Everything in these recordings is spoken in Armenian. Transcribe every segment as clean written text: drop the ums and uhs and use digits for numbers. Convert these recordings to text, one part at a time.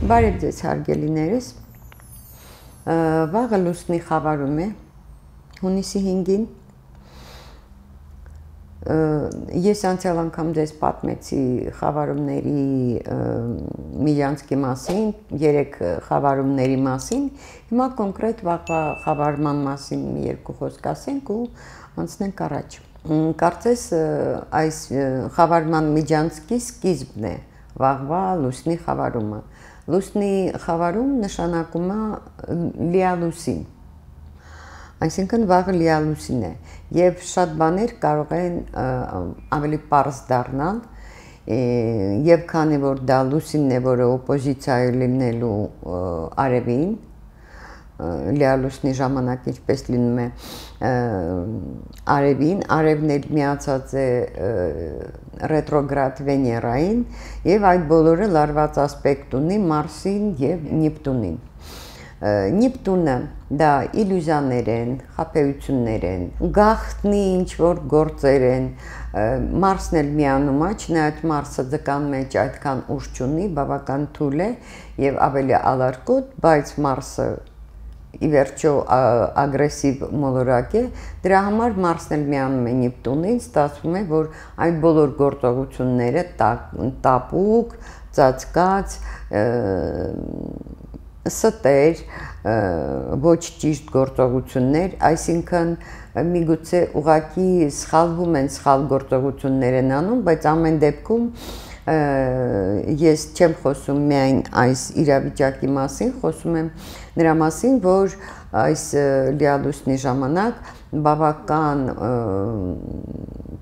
Բարև ձեզ հարգելիներս, վաղը լուսնի խավարում է, հունիսի 5-ին, ես անցյալ անգամ ձեզ պատմեցի խավարումների միջանցքի մասին, 3 խավարումների մասին, հիմա կոնկրետ վաղվա խավարման մասին մի երկու խոսք ասենք ու անցնենք առաջ։ Կարծես այս խավարման միջանցքի սկիզբն է վաղվա լուսնի խավարումը։ Լուսնի խավարում նշանակում է լիալուսին, այսինքն վաղը լիալուսին է, եւ շատ բաներ կարող են ավելի պարզ դառնալ, եւ քանի որ դա լուսինն է, որը օպոզիցիա է լինելու արևին, լիալուսնի ժամանակ ինչպես լինում է արևին, արևն էլ միացած է ռետրոգրադ Վեներային եւ այդ բոլորը լարված ասպեկտ ունի Մարսին եւ Նեպտունին։ Նեպտունը դա իլյուզիաներ են, խաբեություններ են, գաղտնի ինչ-որ գործեր են, Մարսն էլ միանում է, չնայած Մարսը ձկան մեջ այդքան ուժ չունի, բավական թույլ է եւ ավելի ալարկոտ, բայց Մարսը ի վերջո ագրեսիվ մոլորակ է, դրա համար Մարսն էլ միանում է Նեպտունին, ստացվում է, որ այդ բոլոր գործողությունները տապուկ, ծածկած, ստեր, ոչ ճիշտ գործողություններ, այսինքն միգուցե ուղղակի սխալվում են, սխալ գործողություններ են անում, բայց ամեն դեպքում ես չեմ խոսում միայն այս իրավիճակի մասին, խոսում եմ նրա մասին, որ այս լիալուսնի ժամանակ բավական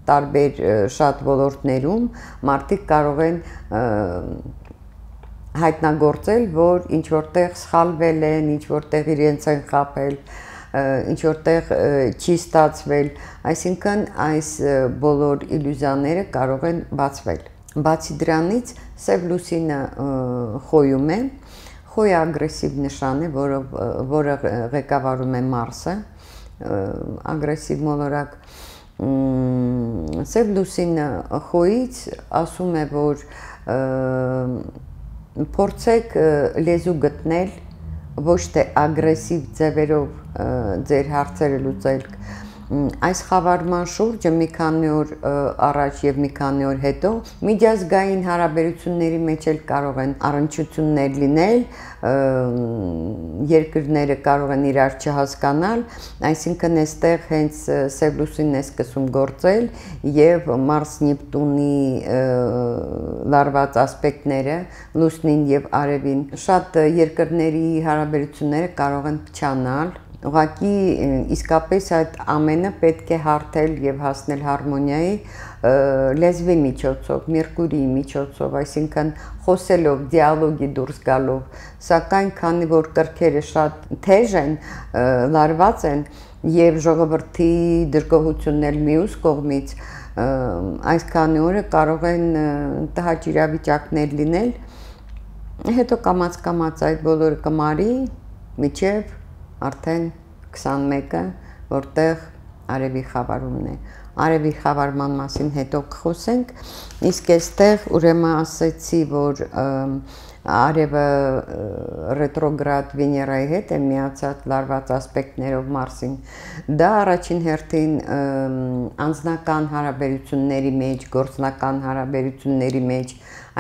տարբեր շատ ոլորտներում մարդիկ կարող են հայտնագործել, որ ինչ որտեղ սխալվել են, ինչ որտեղ իրենց են խաբել, ինչ որտեղ չի ստացվել, այսինքն այս բոլոր իլյուզիաները կարող են բացվել։ Բացի դրանից սև լուսինը խոյում է, խոյը ագրեսիվ նշան է, որը ղեկավարում է Մարսը, ագրեսիվ մոլորակ, սև լուսինը խոյից ասում է, որ փորձեք լեզու գտնել, ոչ թե ագրեսիվ ձևերով ձեր հարցերը լուծել, այս խավարման շուրջը մի քանի օր առաջ եւ մի քանի օր հետո միջազգային հարաբերությունների մեջ էլ կարող են առնչություններ լինել, երկրները կարող են իրար չհասկանալ, այսինքն այստեղ հենց սև լուսինն է սկսում գործել եւ Մարս-Նեպտունի լարված ասպեկտները լուսնին եւ արևին շատ երկրների հարաբերությունները կարող են փչանալ, ուղղակի իսկապես այդ ամենը պետք է հարթել եւ հասնել հարմոնիայի լեզվի միջոցով, Մերկուրիի միջոցով, այսինքն խոսելով, դիալոգի դուրս գալով, սակայն քանի որ կրքերը շատ թեժ են, լարված են եւ ժողովրդի դժգոհությունն էլ մյուս կողմից, այս քանի օրը կարող են տհաճ իրավիճակներ լինել, հետո կամաց այդ բոլորը կմարի միջև արդեն 21-ը, որտեղ արևի խավարումն է։ Արևի խավարման մասին հետո կխոսենք, իսկ այստեղ ուրեմն ասեցի, որ արևը ռետրոգրադ Վեներայի հետ է միացած լարված ասպեկտներով Մարսին։ Դա առաջին հերթին անձնական հարաբերությունների մեջ, գործնական հարաբերությունների մեջ,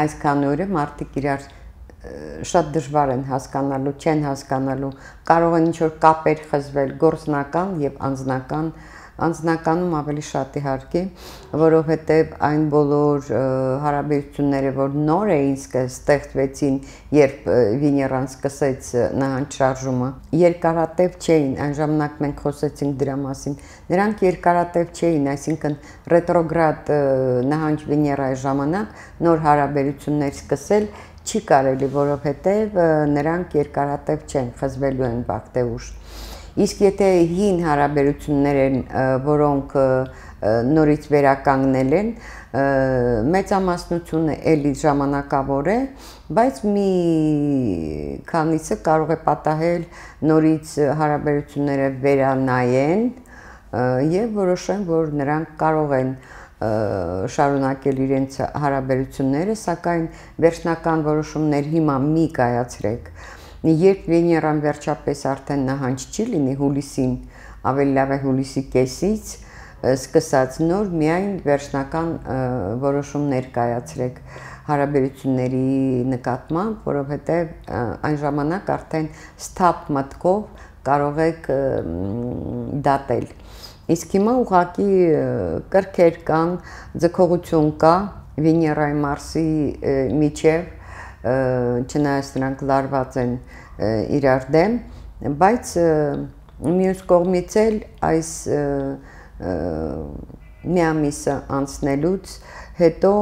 այսքան օրը մարդիկ իրար շատ դժվար են հասկանալու, չեն հասկանալու, կարող են ինչ-որ կապեր խզվել գործնական եւ անձնական, անձնականում ավելի շատ իհարկե, որովհետեւ այն բոլոր հարաբերությունները, որ նոր էին ստեղծվեցին, երբ Վեներան սկսեց նահանջ շարժումը, երկարատև չէին, այն ժամանակ մենք խոսեցինք դրա մասին, նրանք երկարատև չէին, այսինքն ռետրոգրադ նահանջ Վեներայի ժամանակ նոր հարաբերություններ սկսել չի կարելի, որովհետև նրանք երկարատև չեն, խզվելու են վաղտեուշ։ Իսկ եթե հին հարաբերություններ են, որոնք նորից վերականգնել են, մեծամասնությունը էլի ժամանակավոր է, բայց մի քանիսը կարող է պատահել նորից հարաբերությունները վերանայեն եւ որոշեն, որ նրանք կարող են շարունակել իրենց հարաբերությունները, սակայն վերջնական որոշումներ հիմա մի կայացրեք։ Երբ Վեներան վերջապես արդեն նահանջ չի լինի հուլիսին, ավելի լավ է հուլիսի կեսից, սկսած նոր միայն վերջնական որոշումներ կայացրեք հարաբերությունների նկատմամբ, որովհետև այն ժամանակ արդեն սթափ մտքով կարող եք դատել։ Իսկ հիմա ուղղակի կրքեր կան, ձգողություն կա Վեներայի Մարսի միջև, չնայած նրանք լարված են իրար դեմ, բայց մյուս կողմից էլ այս մի ամիսը անցնելուց հետո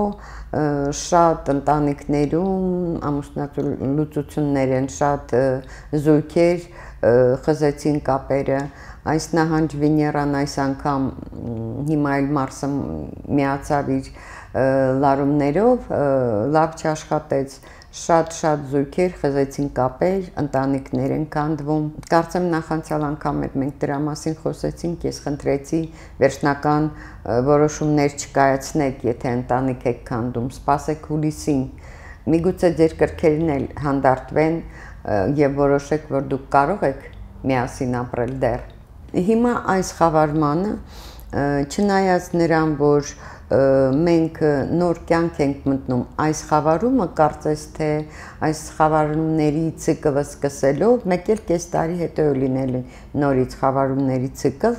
շատ ընտանիքներում ամուսնալուծություններ են, շատ զույգեր խզեցին կապերը, այս նահանջ Վեներան այս անգամ հիմա էլ Մարսը միացավ իր լարումներով, լավ չաշխատեց, շատ զույգեր խզեցին կապեր, ընտանիքներ են քանդվում։ Կարծեմ նախանցյալ անգամ մենք դրա մասին խոսեցինք, ես խնդրեցի վերջնական որոշումներ չկայացնեք, եթե ընտանիք եք քանդում, սպասեք հուլիսին, միգուցե ձեր կրքերն էլ հանդարտվեն եւ որոշեք, որ դուք կարող եք միասին ապրել դեռ։ Հիմա այս խավարմանը, չնայած նրան, որ մենք նոր կյանք ենք մտնում այս խավարումը, կարծես թե այս խավարումների ցիկլը սկսելով, մեկ էլ կես տարի հետո լինել նորից խավարումների ցիկլ,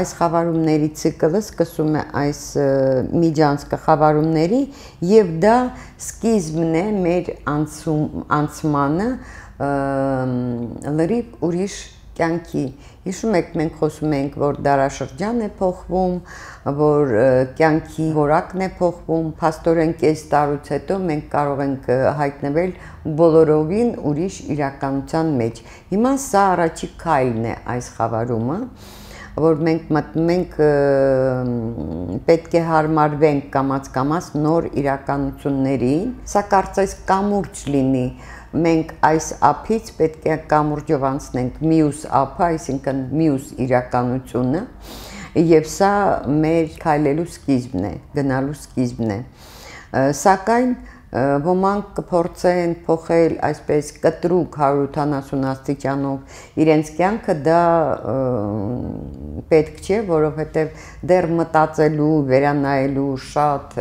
այս խավարումների ցիկլը սկսում է այս միջանցքը խավարումների եւ դա սկիզբն է մեր անցմանը լրիվ ուրիշ կյանքի։ Հիշում եք, մենք խոսում ենք, որ դարաշրջան է փոխվում, որ կյանքի որակն է փոխվում, փաստորեն կես տարուց հետո մենք կարող ենք հայտնվել բոլորովին ուրիշ իրականության մեջ։ Հիմա սա առաջի քայլն է այս խավարումը, որ մենք մտնում ենք, պետք է հարմարվենք կամաց նոր իրականությունների, սա կարծես կամուրջ լինի, մենք այս ափից պետք է կամուրջով անցնենք մյուս ափը, այսինքն մյուս իրականությունը, եւ սա մեր քայլելու սկիզբն է, գնալու սկիզբն է։ Սակայն ոմանք կփորձեն փոխել այսպես կտրուկ 180 աստիճանով իրենց կյանքը, դա պետք չէ, որովհետև դեռ մտածելու, վերանայելու շատ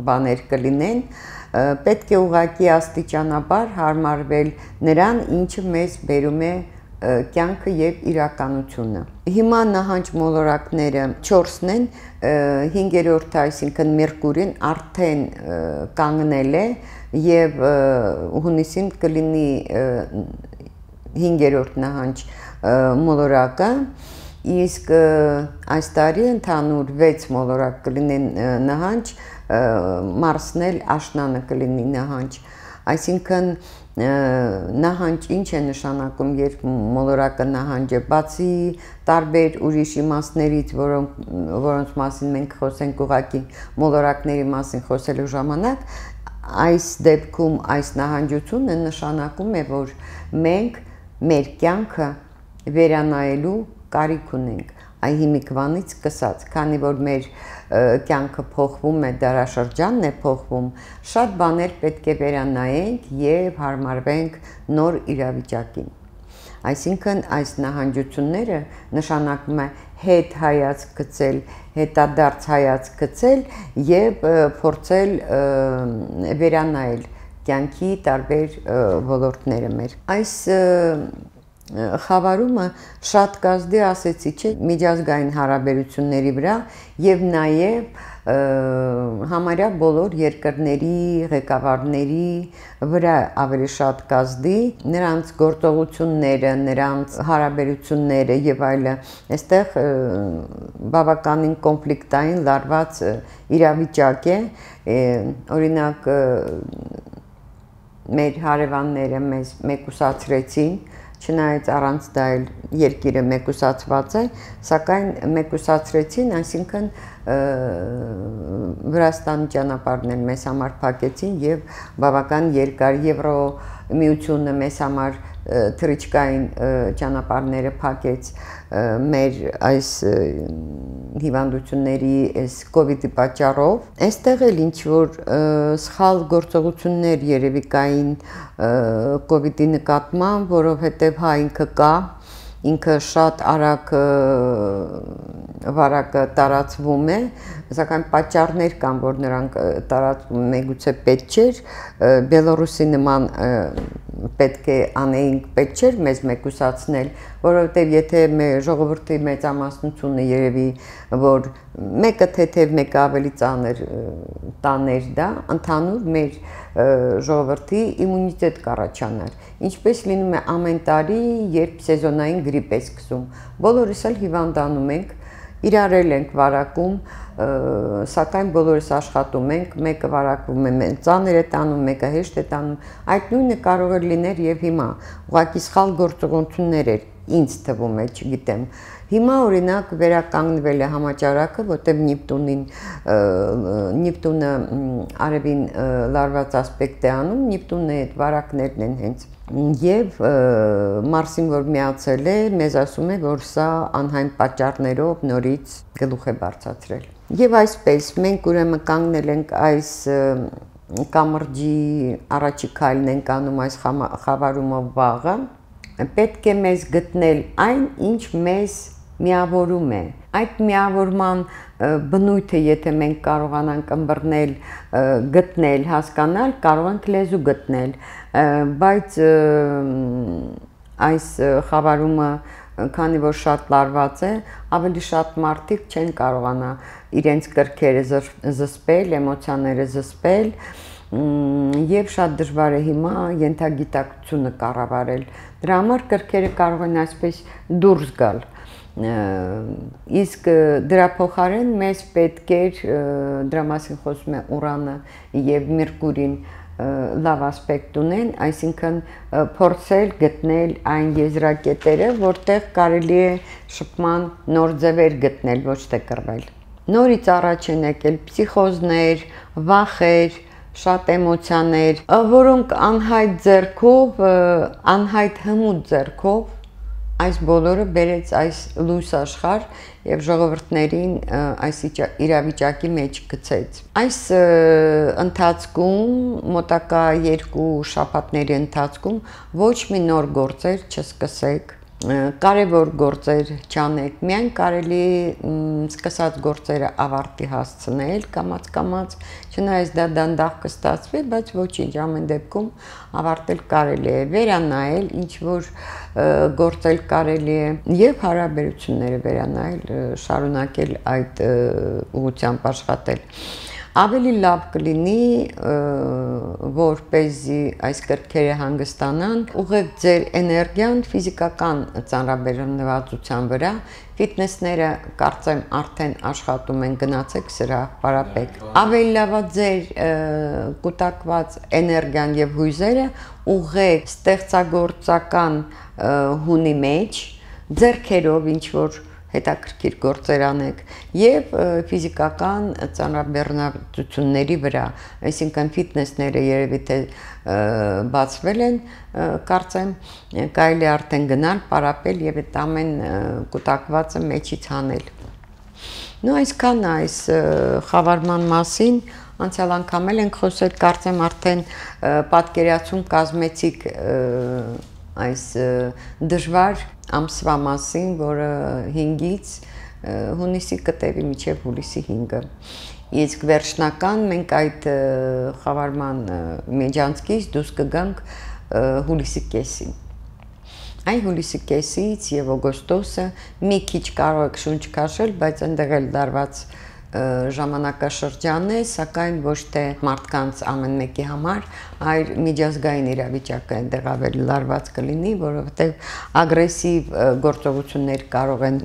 բաներ կլինեն, պետք է ուղղակի աստիճանաբար հարմարվել նրան, ինչը մեզ բերում է կյանքը եւ իրականությունը։ Հիմա նահանջ մոլորակները 4-ն են, 5-րդը, այսինքն Մերկուրին արդեն կանգնել է եւ հունիսին կլինի 5-րդ նահանջ մոլորակը, իսկ այս տարի ընդհանուր 6 մոլորակ կլինեն նահանջ, Մարսն էլ աշնանը կլինի նահանջ, այսինքն նահանջ ինչ է նշանակում, երբ մոլորակը նահանջ է, բացի տարբեր ուրիշ իմաստներից, որոնց մասին մենք խոսենք ուղղակի մոլորակների մասին խոսելու ժամանակ, այս դեպքում այս նահանջությունը նշանակում է, որ մենք մեր կյանքը վերանայելու կարիք ունենք, այ հիմիկվանից սկսած, քանի որ մեր կյանքը փոխվում է, դարաշրջանն է փոխվում, շատ բաներ պետք է վերանայենք եւ հարմարվենք նոր իրավիճակին։ Այսինքն այս նահանջությունները նշանակում է հետ հայացք գցել, հետադարձ հայացք գցել եւ փորձել վերանայել կյանքի տարբեր ոլորտները մեր։ Այս խավարումը շատ կազդի ասեցի, չէ, միջազգային հարաբերությունների վրա եւ նաեւ համարյա բոլոր երկրների ղեկավարների վրա ավելի շատ կազդի, նրանց գործողությունները, նրանց հարաբերությունները եւ այլը, այստեղ բավականին կոնֆլիկտային լարված իրավիճակ է, օրինակ մեր հարևանները մեզ մեկուսացրեցին, չնայած առանց դա էլ երկիրը մեկուսացված է, սակայն մեկուսացրեցին, այսինքն Վրաստանի ճանապարհն էլ մեզ համար փակեցին եւ բավական երկար միությունը մեզ համար թռիչքային ճանապարհները փակեց մեր այս հիվանդությունների այս կոവിഡ്ի պատճառով այստեղ էլ ինչ որ սխալ գործողություններ երևի կային կոവിഡ്ի նկատմամբ, որովհետև հա ինքը շատ արագ վարակը տարածվում է, սակայն պատճառներ կան, որ նրանք տարածվում մեգուցե պետք չէր, Բելորուսի նման պետք է անեինք, պետք չէր մեզ մեկուսացնել, որովհետև եթե մեր ժողովրդի մեծամասնությունը երևի, որ մեկը թեթև, մեկը ավելի ծանր տաներ դա, ընդհանուր մեր ժողովրդի իմունիտետ կառաջանար, ինչպես լինում է ամեն տարի, երբ սեզոնային գրիպ է սկսում, բոլորս էլ հիվանդանում ենք, իրարել ենք վարակում, սակայն բոլորս աշխատում ենք, մեկը վարակվում է ծանր է տանում, մեկը հեշտ է տանում, այդ նույնը կարող է լիներ եւ հիմա, ուղղակի սխալ գործողություններ էր, ինձ թվում է, չգիտեմ, հիմա օրինակ վերականգնվել է համաճարակը, որտեղ Նիպտունը արևին լարված ասպեկտ է անում, Նիպտունի այդ վարակներն են հենց եւ Մարսին որ միացել է, մեզ ասում է, որ սա անհայն պատճառներով նորից գլուխ է բարձրացրել։ Եվ այսպես մենք ուրեմն կանգնել ենք այս կամրջի առաջի քայլն ենք անում այս խավարումով վաղը, պետք է մեզ գտնել այն, ինչ մեզ միավորում է։ Այդ միավորման բնույթը, եթե մենք կարողանանք ըմբռնել, գտնել, հասկանալ, կարող ենք լեզու գտնել, բայց այս խավարումը, քանի որ շատ լարված է, ավելի շատ մարդիկ չեն կարողանա իրենց կրքերը զսպել, էմոցիաները զսպել, եւ շատ դժվար է հիմա ենթագիտակցությունը կառավարել։ Դրա համար կրքերը կարող են այսպես դուրս գալ։ Իսկ դրա փոխարեն մեզ պետք էր, դրա մասին խոսում է Ուրանը եւ Մերկուրին լավ ասպեկտ ունեն, այսինքն փորձել գտնել այն եզրակետերը, որտեղ կարելի է շփման նոր ձևեր գտնել, ոչ թե կռվել։ Նորից առաջ են եկել փսիխոզներ, վախեր, շատ էմոցիաներ, որոնք անհայտ ձեռքով, անհայտ հմուտ ձեռքով այս բոլորը բերեց այս լույս աշխարհ եւ ժողովրդներին այս իրավիճակի մեջ գցեց։ Այս ընթացքում մոտակա 2 շաբաթների ընթացքում ոչ մի նոր գործեր չսկսեք, կարևոր գործեր չանեք, միայն կարելի սկսած գործերը ավարտի հասցնել կամաց, չնայած դա դանդաղ կստացվի, բայց ոչինչ, ամեն դեպքում ավարտել կարելի է, վերանայել, ինչ որ գործել կարելի է եւ հարաբերությունները վերանայել, շարունակել այդ ուղղությամբ աշխատել։ Ավելի լավ կլինի, որպեսզի այս կրքերը հանգստանան, ուղղեք ձեր էներգիան ֆիզիկական ծանրաբեռնվածության վրա, ֆիթնեսները կարծեմ արդեն աշխատում են, գնացեք սրահ, պարապեք։ Ավելի լավ է ձեր կուտակված էներգիան եւ հույզերը ուղղեք ստեղծագործական հունի մեջ, ձեռքերով ինչ որ հետաքրքիր գործեր անեք եւ ֆիզիկական ծանրաբեռնվածությունների վրա, այսինքն ֆիթնեսները երևի թե բացվել են, կարծեմ կարելի արդեն գնալ, պարապել եւ այդ ամեն կուտակվածը մեջից հանել։ Նո այսքան այս խավարման մասին անցյալ անգամ ենք խոսել, կարծեմ արդեն պատկերացում կազմեցիք այս դժվար ամսվա մասին, որը 5-ից հունիսի կտևի մինչև հուլիսի 5-ը։ Իսկ վերջնական մենք այդ խավարման միջանցքից դուրս կգանք հուլիսի կեսին։ Այն հուլիսի կեսից եւ օգոստոսը մի քիչ կարող եք շունչ քաշել, բայց այնտեղ էլ դարված ժամանակաշրջան է, սակայն ոչ թե մարդկանց ամեն մեկի համար, այլ միջազգային իրավիճակը այնտեղ ավելի լարված կլինի, որովհետև ագրեսիվ գործողություններ կարող են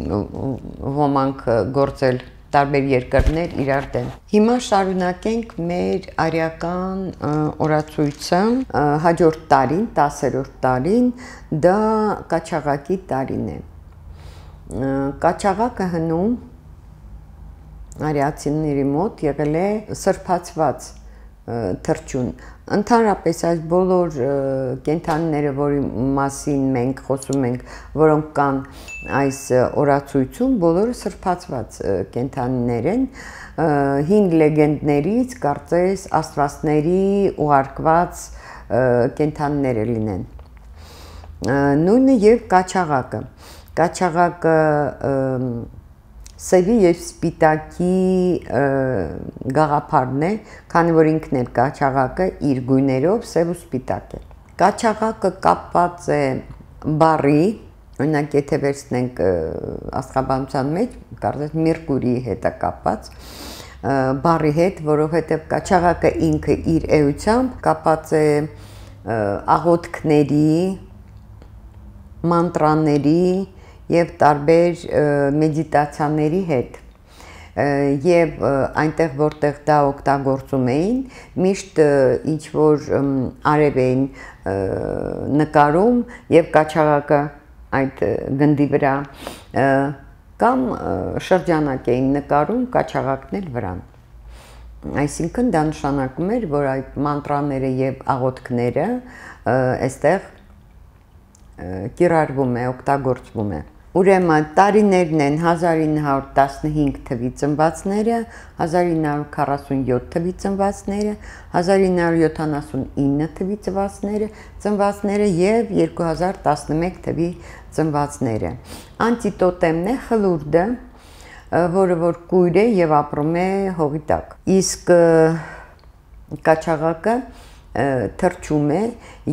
ոմանք գործել տարբեր երկրներ իրար դեմ։ Հիմա շարունակենք մեր արիական օրացույցը, հաջորդ տարին, 10-րդ տարին, դա Կաչաղակի տարին է։ Կաչաղակը հնում արիացիների մոտ եղել է սրբացված թռչուն։ Ընդհանրապես այս բոլոր կենդանիները, որի մասին մենք խոսում ենք, որոնք կան այս օրացույցում, բոլորը սրբացված կենդանիներ են, հին լեգենդներից կարծես աստվածների ուղարկված կենդանիները լինեն։ Նույնը եւ կաչաղակը։ Կաչաղակը սևի եւ սպիտակի գաղափարն է, քանի որ ինքն էլ կաչաղակը իր գույներով սև ու սպիտակ է։ Կաչաղակը կապված է բառի, օրինակ եթե վերցնենք աստղաբանության մեջ, կարծես Մերկուրիի հետ է կապված, բառի հետ, որովհետեւ կաչաղակը ինքը իր էությամբ կապված է աղոթքների, մանտրաների եւ տարբեր մեդիտացիաների հետ եւ այնտեղ որտեղ դա օգտագործում էին միշտ ինչ որ արև էին նկարում եւ կաչաղակը այդ գնդի վրա կամ շրջանակ էին նկարում կաչաղակն էլ վրան այսինքն դա նշանակում էր որ այդ մանտրաները եւ աղոթքները այստեղ կիրառվում է օգտագործվում է Ուրեմն տարիներն են 1915 թվի ծնվածները, 1947 թվի ծնվածները, 1979 թվի ծնվածները եւ 2011 թվի ծնվածները։ Անտիտոտեմն է խլուրդը, որը որ կույր է եւ ապրում է հողի տակ։ Իսկ կաչաղակը թռչում է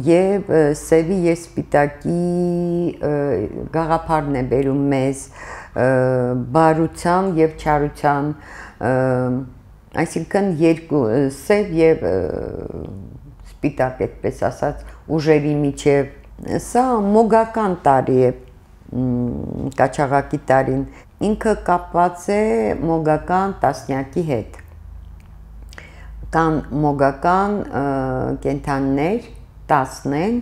եւ սևի եւ սպիտակի գաղափարն է բերում մեզ բարության եւ չարության այսինքն երկու սև եւ սպիտակ այդպես ասած ուժերի միջև սա մոգական տարի է կաչաղակի տարին ինքը կապված է մոգական տասնյակի հետ կան մոգական կենդանիներ 10 են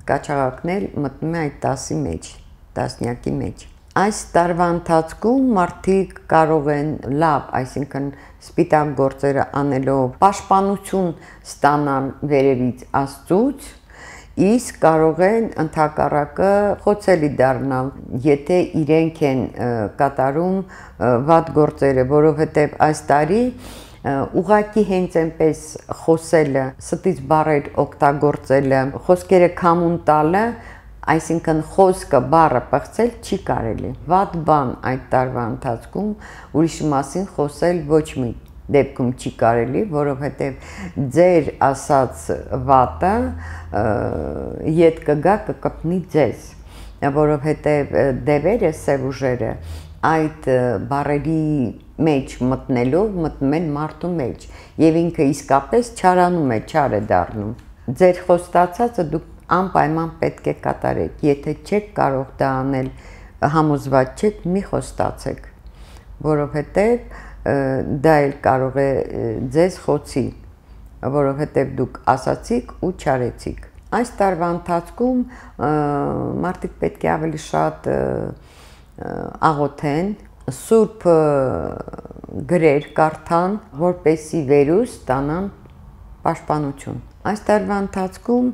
կաչաղակներ մտնում է այդ 10-ի մեջ տասնյակի մեջ այս տարվա ընթացքում մարդիկ կարող են լավ այսինքն սպիտակ գործերը անելով պաշտպանություն ստանալ վերևից Աստծուց իսկ կարող են ընդհակառակը խոցելի դառնալ եթե իրենք են կատարում վատ գործերը որովհետև այս տարի ուղակի հենց այնպես խոսելը ստից բառեր օգտագործելը խոսքերը քամուն տալը այսինքն խոսքը բառը պղծել չի կարելի վատ բան այդ տարվա ընթացքում ուրիշի մասին խոսել ոչ մի դեպքում չի կարելի, որովհետև ձեր ասած վատը ետ կգա կկպնի ձեզ, որովհետև դևերը սև ուժերը այդ բառերի մեջ մտնելով մտնում են մարդու մեջ եւ ինքը իսկապես չարանում է, չար է դառնում։ Ձեր խոստացածը դուք անպայման պետք է կատարեք, եթե չեք կարող դա անել, համոզված չեք, մի խոստացեք, որովհետև դա էլ կարող է ձեզ խոցի, որովհետև դուք ասացիք ու չարեցիք։ Այս տարվա ընթացքում մարդիկ պետք է ավելի շատ աղոթեն, սուրբ գրեր կարդան, որպեսզի վերուս ստանան պաշտպանություն։ Այս տարվա ընթացքում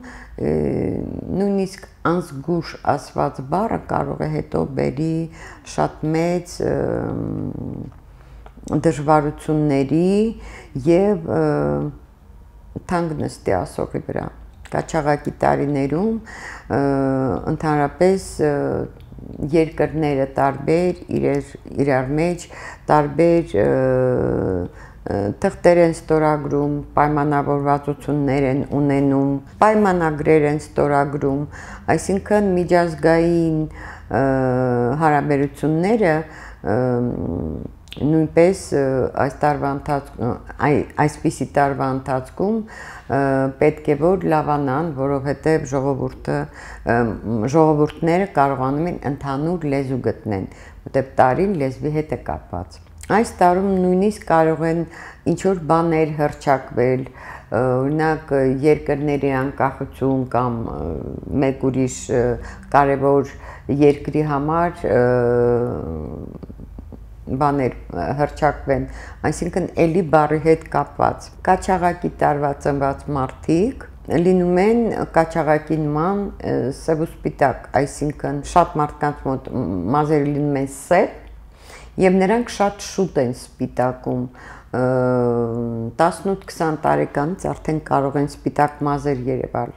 նույնիսկ անզգուշ ասված բառը կարող է հետո բերի շատ մեծ դժվարությունների եւ թանկ նստի ասողի վրա կաչաղակի տարիներում ընդհանրապես երկրները տարբեր իրար մեջ տարբեր թղթեր են ստորագրում, պայմանավորվածություններ են ունենում, պայմանագրեր են ստորագրում, այսինքն միջազգային հարաբերությունները նույնպես այսպիսի տարվա ընթացքում պետք է որ լավանան, որովհետև ժողովուրդները կարողանում են ընդհանուր լեզու գտնեն, որտեղ տարին լեզվի հետ է կապված։ Այս տարում նույնիսկ կարող են ինչ-որ բաներ հռչակվել, օրինակ երկրների անկախություն կամ մեկ ուրիշ կարևոր երկրի համար բաներ հրճակվեն, այսինքն էլի բառի հետ կապված։ Կաչաղակի տարվա ծնված մարդիկ լինում են կաչաղակի նման սև ու սպիտակ, այսինքն շատ մարդկանց մոտ մազերը լինում են սև եւ նրանք շատ շուտ են սպիտակում 18-20 տարեկանից արդեն կարող են սպիտակ մազեր երևալ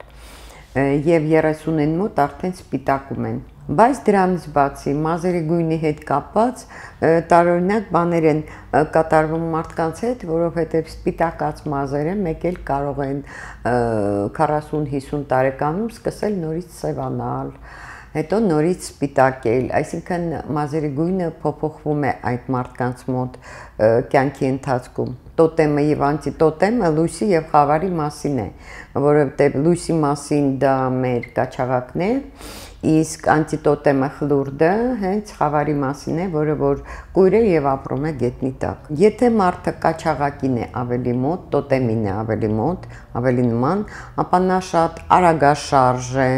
եւ 30-ին մոտ արդեն սպիտակում են։ Բայց դրանից բացի մազերի գույնի հետ կապված տարօրինակ բաներ են կատարվում մարդկանց հետ, որովհետև սպիտակած մազերը մեկ էլ կարող են 40-50 տարեկանում սկսել նորից սևանալ, հետո նորից սպիտակել, այսինքն մազերի գույնը փոփոխվում է այդ մարդկանց մոտ կյանքի ընթացքում։ Տոտեմը եւ անտիտոտեմը լույսի եւ խավարի մասին է, որովհետեւ լույսի մասին դա մեր կաչաղակն է, իսկ անտիտոտեմը խլուրդը հենց խավարի մասին է, որը որ կույր է եւ ապրում է գետնի տակ։ Եթե մարդը կաչաղակին է ավելի մոտ, տոտեմին է ավելի մոտ, ավելի նման, ապա նա շատ արագաշարժ է,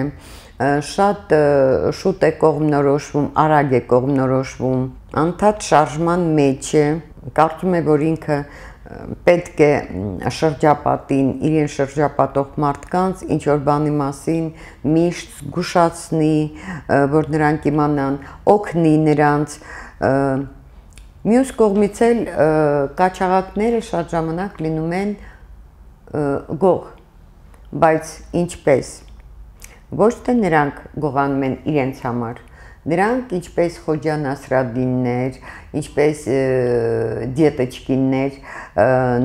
շատ շուտ է կողմնորոշվում, արագ է կողմնորոշվում, անդադ շարժման մեջ է, կարծում է, որ ինքը պետք է շրջապատին, իրեն շրջապատող մարդկանց ինչ որ բանի մասին միշտ զգուշացնի, որ նրանք իմանան, օգնի նրանց։ Մյուս կողմից էլ կաչաղակները շատ ժամանակ լինում են գող, բայց ինչպես։ Ոչ թե նրանք գողանում են իրենց համար, նրանք ինչպես Խոջա Նասրադիններ, ինչպես դիետեչկիններ,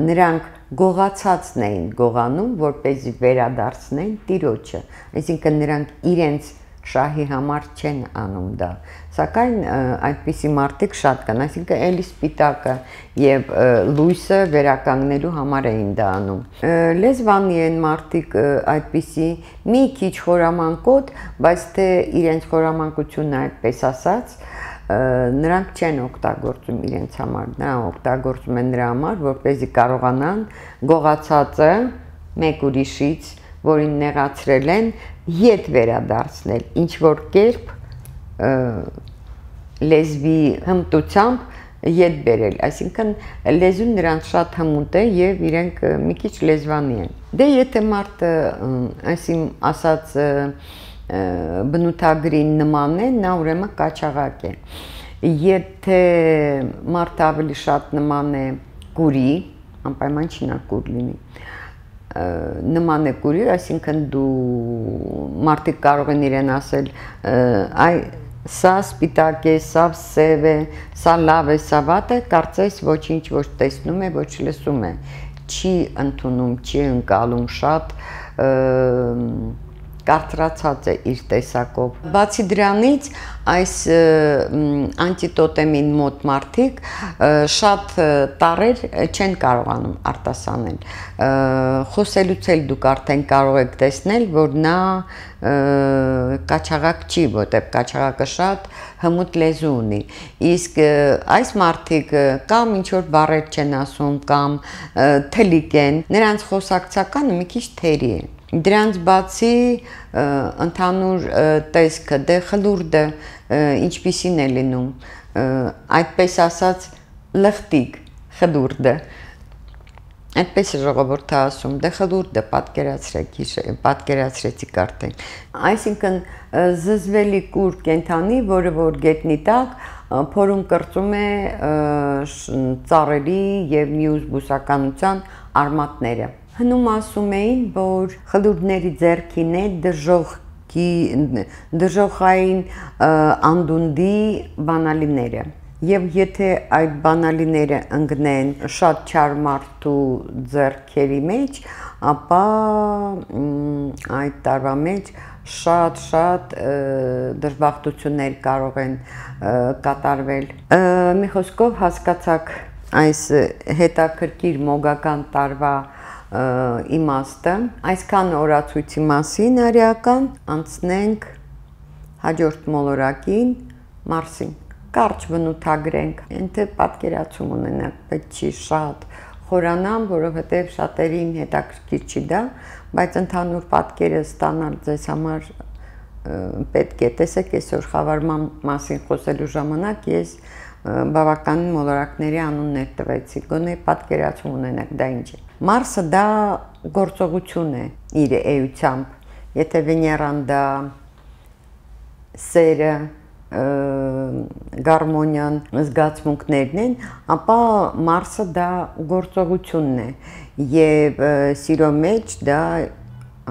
նրանք գողացածն էին գողանում, որպեսզի վերադարձնեն տիրոջը, այսինքն նրանք իրենց շահի համար չեն անում դա, սակայն այդպիսի մարդիկ շատ կան, այսինքն էլի սպիտակը եւ լույսը վերականգնելու համար էին դա անում։ Լեզվանի են մարդիկ այդպիսի մի քիչ խորամանկոտ, բայց թե իրենց խորամանկությունը այդպես ասած, նրանք չեն օգտագործում իրենց համար, նրանք օգտագործում են նրա համար, որպեսզի կարողանան գողացածը մեկ ուրիշից, որին նեղացրել են, ետ վերադարձնել, ինչ որ կերպ լեզվի հմտությամբ ետ բերել, այսինքն լեզուն նրանց շատ հմուտ է եւ իրենք մի քիչ լեզվանի են։ Դե եթե մարդը այսին ասած բնութագրի նման է, նա ուրեմն կաչաղակ է։ Եթե մարդը ավելի շատ նման է կուրի, անպայման չի նա կուր լինի, նման է կուրի, այսինքն դու մարդիկ կարող են իրեն ասել, այ սա սպիտակ է, սա սև է, սա լավ է, սա վատ է, կարծես ոչինչ ոչ տեսնում է, ոչ լսում է, չի ընդունում, չի ընկալում, շատ կարծրացած է իր տեսակով։ Բացի դրանից, այս անտիտոտեմին մոտ մարդիկ շատ տառեր չեն կարողանում արտասանել։ Խոսելուց էլ դուք արդեն կարող եք տեսնել, որ նա կաչաղակ չի, որտեղ կաչաղակը շատ հմուտ լեզու ունի։ Իսկ այս մարդիկ կամ ինչ որ բառեր չեն ասում, կամ թլիկ են, նրանց խոսակցականը մի քիչ թերի է։ Դրանց բացի ընդհանուր տեսքը, դե խլուրդը ինչպիսին է լինում, այդպես ասած լխտիկ խլուրդը, այդպես է ժողովուրդը ասում, դե խլուրդը պատկերացրեցիք արդեն։ Այսինքն զզվելի կուր կենդանի, որը որ գետնի տակ փորում կրծում է ծառերի եւ մյուս բուսականության արմատները։ Հնում ասում էին, որ խլուրդների ձեռքին է դժոխային անդունդի բանալիները։ Եվ եթե այդ բանալիները ընկնեն շատ չար մարդու ձեռքերի մեջ, ապա այդ տարվա մեջ շատ դժբախտություններ կարող են կատարվել։ Մի խոսքով հասկացաք այս հետաքրքիր մոգական տարվա իմաստը, այսքան օրացույցի մասին արիական, անցնենք հաջորդ մոլորակին, Մարսին։ Կարճ բնութագրենք, ընդ պատկերացում ունենանք, պետք չի շատ խորանամ, որովհետև շատերին հետաքրքիր չի դա, բայց ընդհանուր պատկերը ստանալ ձեզ համար պետք է տեսեք այսօր խավարման մասին խոսելու ժամանակ ես բավականին մոլորակների անուններ տվեցի, գոնե պատկերացում ունենաք դա ինչ է։ Մարսը դա գործողություն է իր էությամբ, եթե Վեներան դա սերը, գարմոնիան, զգացմունքներն են, ապա Մարսը դա գործողությունն է եւ սիրո մեջ դա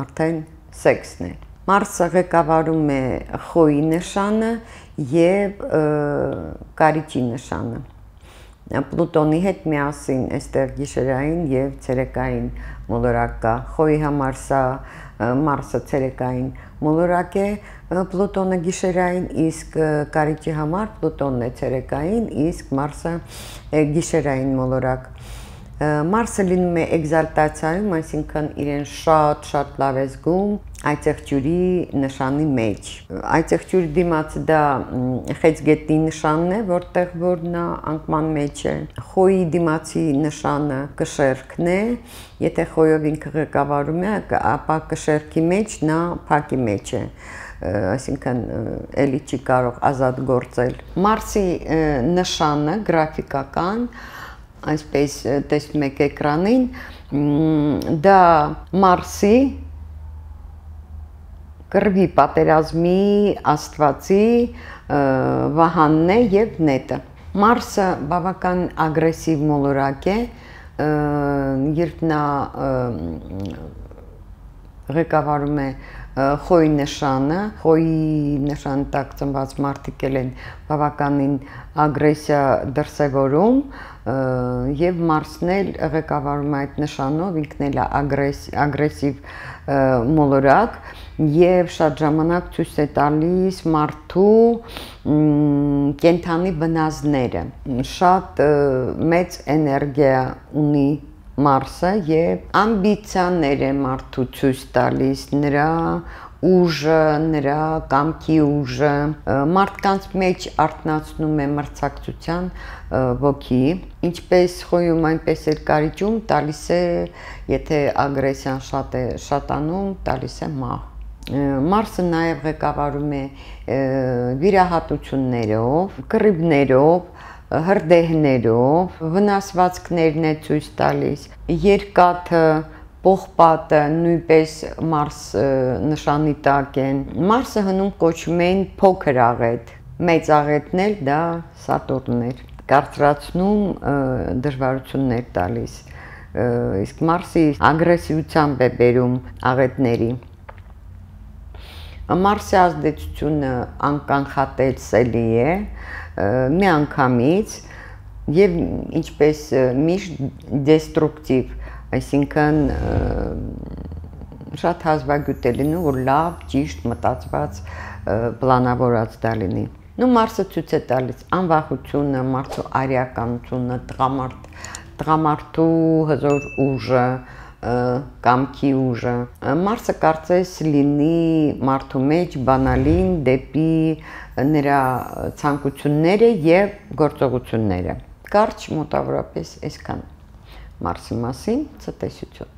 արդեն սեքսն է։ Մարսը ղեկավարում է խոյի նշանը եւ կարիճի նշանը։ Պլուտոնի հետ միասին այստեղ գիշերային եւ ցերեկային մոլորակ կա։ Խոյի համար սա Մարսը ցերեկային մոլորակ է, Պլուտոնը գիշերային, իսկ կարիճի համար Պլուտոնն է ցերեկային, իսկ Մարսը գիշերային մոլորակ։ Մարսը լինում է էկզալտացիայում, այսինքն իրեն շատ լավ է զգում այծեղջյուրի նշանի մեջ։ Այծեղջյուրի դիմացը դա խեցգետնի նշանն է, որտեղ որ նա անկման մեջ է։ Խոյի դիմացի նշանը կշերքն է, եթե խոյով ինքը ղեկավարում է, ապա կշերքի մեջ նա փակի մեջ է, այսինքն էլի չի կարող ազատ գործել։ Մարսի նշանը գրաֆիկական, այսպես տեսնում եք էկրանին, դա Մարսի կռվի պատերազմի աստվածի վահանն է եւ նետը։ Մարսը բավական ագրեսիվ մոլորակ է, երբ նա ղեկավարում է խոյի նշանը, խոյի նշան տակ ծնված մարդիկ են բավականին ագրեսիա դրսևորում եւ Մարսն էլ ղեկավարում է այդ նշանով, ինքն էլ ագրեսիվ մոլորակ եւ շատ ժամանակ ցույց է տալիս մարդու կենթանի բնազդները։ Շատ մեծ էներգիա ունի Մարսը եւ ամբիցիաներ է մարդու ցույց տալիս, նրա ուժը, նրա կամքի ուժը, մարդկանց մեջ արթնացնում է մրցակցության ոգի, ինչպես խոյում, այնպես էլ կարիճում տալիս է, եթե ագրեսիան շատ է շատանում, տալիս է մահ։ Մարսը նաև ղեկավարում է վիրահատություններով, կռիվներով, հրդեհներով, վնասվածքներն է ցույց տալիս, երկաթը, պողպատը նույնպես Մարս նշանի տակ են։ Մարսը հնում կոչում են փոքր աղետ, մեծ աղետն էլ դա Սատուրնն էր, կարծրացնում դժվարություններ տալիս, իսկ Մարսի ագրեսիվությամբ է բերում աղետների։ Մարսի ազդեցությունը անկանխատեսելի է, միանգամից եւ ինչպես միշտ դեստրուկտիվ, այսինքն շատ հազվագյուտ է լինում, որ լավ, ճիշտ մտածված, պլանավորած դա լինի։ Մարսը ցույց է տալիս անվախությունը, մարդու արիականությունը, տղամարդու հզոր ուժը, կամքի ուժը։ Մարսը կարծես լինի մարդու մեջ բանալին դեպի նրա ցանկությունները եւ գործողությունները։ Կարճ մոտավորապես այսքան Մարսի մասին, ցտեսություն։